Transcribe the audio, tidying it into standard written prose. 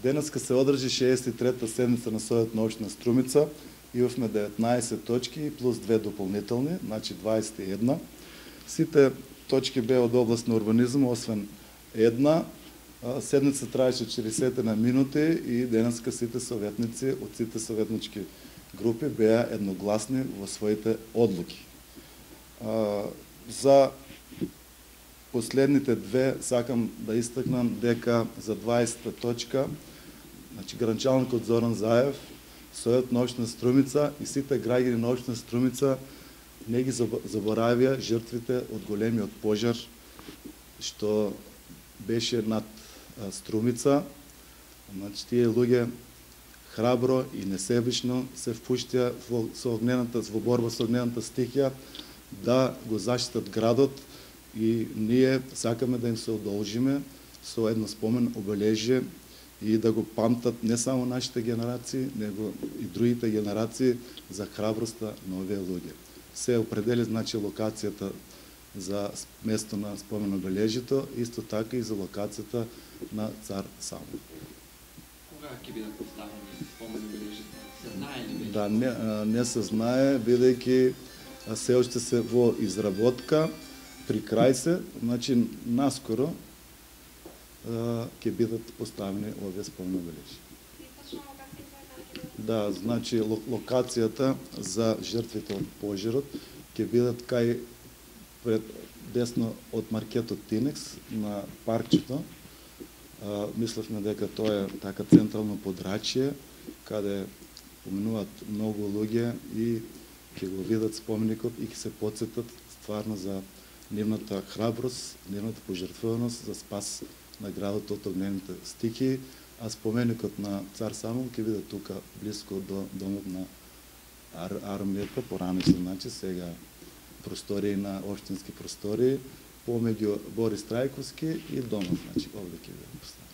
Денеска се одржи 63-та седница на Совет на општина Струмица. Имавме 19 точки плюс 2 дополнителни, значи 21. Сите точки беа од област на урбанизм, освен една. Седница траеше 40 на минути и денеска сите советници од сите советнички групи беа едногласни во своите одлуки. За последните две сакам да истакнам дека за 20-та точка, значи гранчалникот Зоран Заев, Совет на општина Струмица и сите граѓани на општина Струмица не ги заборавија жртвите од големиот пожар што беше над Струмица. Значи тие луѓе храбро и несебично се впуштија во борба со огнената стихија да го заштитат градот и ние сакаме да им се одолжиме со едно спомен обележје и да го памтат не само нашите генерации, него и другите генерации за храброста на овие луѓе. Се определи значи локацијата за место на спомен обележјето, исто така и за локацијата на Цар Самуил. Кога ќе бидат поставени спомен обележјето? Се знае ли веќе? Да, не се знае, бидејќи се уште се во изработка, при крај се, значи наскоро ќе бидат поставени овие спомени обележји. Да, значи локацијата за жртвите од пожарот ќе бидат кај десно од маркетот Тинекс на паркчето. Мислевме дека тоа е така централно подрачје каде поминуваат многу луѓе и ќе го видат споменикот и ќе се потсетат стварно за нивната храброст, нивната пожртвуваност за спас на градот од огнените стихии, а споменикот на Цар Самуил ќе биде тука близко до домот на армијата, порано се значи сега простории на општински простории, помеѓу Борис Трајковски и домот, значи овде ќе биде поставен.